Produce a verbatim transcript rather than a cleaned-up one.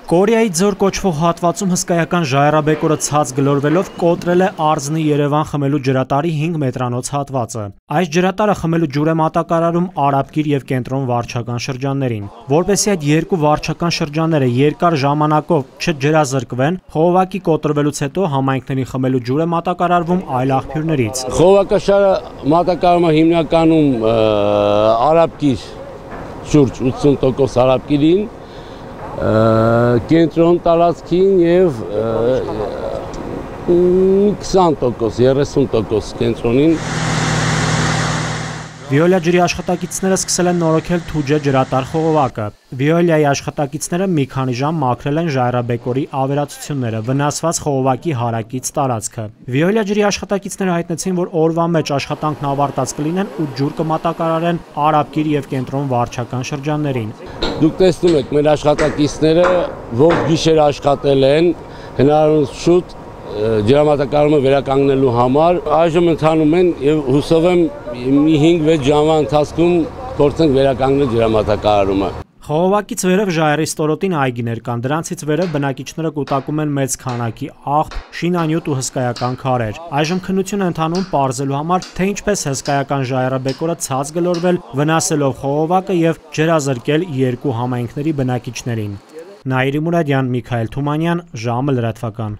Կորեայի ձոր կոչվող հատվածում հսկայական ժայռաբեկորը ցած գլորվելով կոտրել է Արզնի Երևան խմելու ջրատարի հինգ մետրանոց հատվածը։ Այս ջրատարը խմելու ջուր է մատակարարում Արաբկիր և Կենտրոն վարչական շրջաններին։ Որպեսզի այդ երկու վարչական շրջանները երկար ժամանակով չջրազրկվեն, խողովակի կոտրվելուց հետո համայնքների խմելու ջուր է մատակարարվում այլ աղբյուրներից։ Խողովակաշարը մատակարարում է հիմնականում Արաբկիր, շուրջ ութսուն տոկոս Արաբկիրին, Կենտրոն տարածքին և քսան տոկոս, երեսուն տոկոս կենտրոնին։ Վիոլիա ջրի աշխատակիցները սկսել են նորոգել Թուջե ջրատար խողովակը։ Վիոլիայի աշխատակիցները մի քանի ժամ մաքրել են ժայռաբեկորի ավերածությունները, վնասված խողովակի հարակից տարածքը։ Վիոլիա ջրի աշխատակիցները հայտնեցին, որ օրվա մեջ աշխատանքն ավարտած կլինեն ու ջուր կմատակարարեն Արաբկիր և Կենտրոն վարչական շրջաններին։ Դուք տեսնում եք, մեր աշխատակիցները ողջ գիշեր աշխատել են, հնարավոր շուտ ջրամատակարարումը վերականգնելու համար, այժմ ընթանում են և հուսով եմ մի հինգ-վեց ժամվա ընթացքում փորձենք վերականգնել ջրամատակարարումը։ Խողովակից վերև ժայռի ստորոտին այգիներ կան, դրանցից վերև բնակիչները կուտակում են մեծ քանակի աղբ, շինանյութ ու հսկայական քարեր։ Այժմ քննություն է ընթանում պարզելու համար, թե ինչպես հսկայական ժայռաբեկորը ցած գլորվել, վնասելով խողովակը և ջրազրկել երկու համայնքների բնակիչներին։ Նաիրի Մուրադյան, Միքայել Թումանյան, ժամը լրատվական։